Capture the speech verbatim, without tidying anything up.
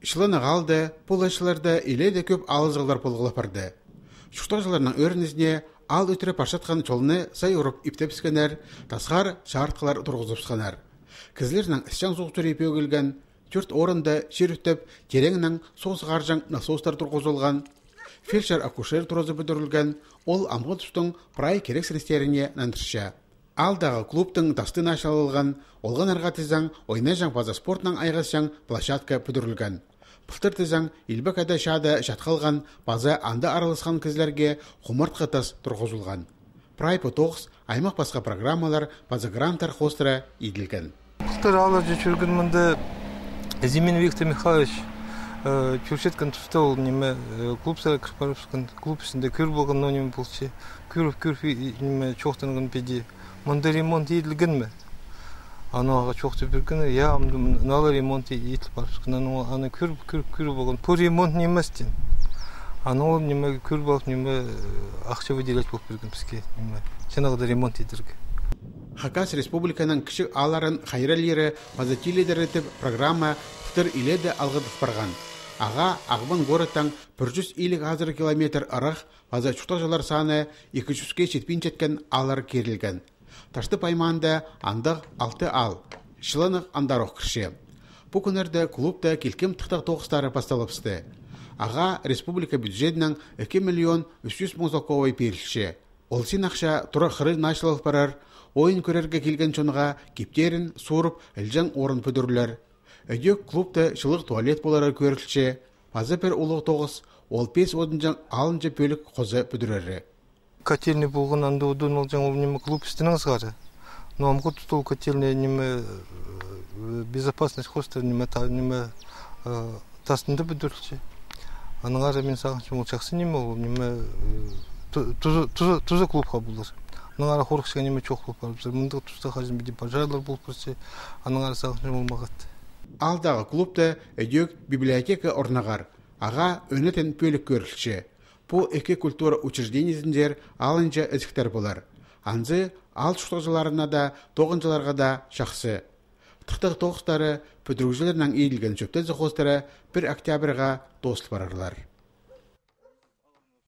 Чыланах аалда пу ла чылларда илееде кӧп алызығлар полғлап парды. Чуртағҷыларның ӧрінізіне, аал ӱтіре парчатхан чолны сай урып иптепскеннер, тасхар чарытхылар турғызыбысханнар. Кізілернің ісчең суғ сӱрии пӧгілген, тӧрт орында чир ӱттеп, тереенең суғ сығарҷаң насостар турғызылған, фельдшер-акушер туразы пӱдірілген, ол амғы тустың прай кирексіністеріне нандырча. Аалдағы клубтың тасты началалған, олғаннарға тізең ойнаҷаң паза спортнаң айғасчаң площадка пӱдірілген. Пылтыр тізең Илбек Ада чаада чатхалған паза анда араласхан кізілерге хумартхы тас турғызылған. Прай пу тоғыс аймах пасха программалар паза гранттар хоостыра иділген. Пылтыр аалларҷа чӧрген мында Зимин Виктор Михайлович, э, чӧрчеткен туста ол ниме, э, клуб сари кір парыбысхан, клуб істінде кӧр полған, но ниме полча. Кӧріп, кӧріп, и, и, ниме, чоохтанған піди. Мында ремонт иділген ме? Анаң ағаа чоохтап пирген, я, ам, м, наа ла ремонт и-, иділ парыбысхан. Анаң, аны кӧріп, кӧріп, кӧріп алған. Пу ремонт нимес, тиген. Анаң ол ниме кӧріп алып, ниме, э, ахча выделять полып пирген піске, ниме, чанағыда ремонт идерге. Хакас Республиканың кічіг аалларын хайраллиры паза тилідері тіп программа пылтыр илееде алғыдыл парған. Ағаа Ағбан городтаң пір чӱс илиг азыра километр ырах паза чуртағҷылар саны ікі чӱске читпинчеткен ааллар кирілген. Таштып аймаанда андағ алты аал. Чыланах андар ох кірче. Пу кӱннерде клубта килкім тыхтағ тоғыстары пасталыбысты. Ағаа республика бюджедінең ікі миллион ӱс чӱс муң салковай пирілче. Ол син ахча тура хырығ началал парар, ойын кӧрерге килген чонға киптерін суурып, ілҷең орын пӱдірілер. Ідӧк клубта чылығ туалет полары кӧрілче, паза пір улуғ тоғыс, ол пес одынҷаң алынҷа пӧлік хоза пӱдірері. Котельный полған, анда одын алҷаң, ол ниме клуб істінең сығара. Но амғы туста ол котельный ниме, э, безопасность хоостыра ниме, та, ниме, э, тастында пӱдірілче. Аннаңар мин сағынчам, ол чахсы ниме, ол ниме, э, ту-, туза, туза, туза клубха полар. Аннаңар хорыхчатхан ниме чох полып парыбызар. Мындағ туста хаҷан піди пожарлар полып парча. Аннаңар сағынчам, ол мағат. Аалдағы клубта ідӧк библиотека орнығар. Ағаа ӧнетін пӧлік кӧрілче. Пу ікі культура учреждениезінзер алынҷа ізіктер полар. Анзы аал чуртағҷыларына даа, тоғынҷыларға даа чахсы. Тыхтағ тоғыстары пӱдірігҷілернең иділген чӧптезі хоостыра пір октябрьға тоозыл парарлар.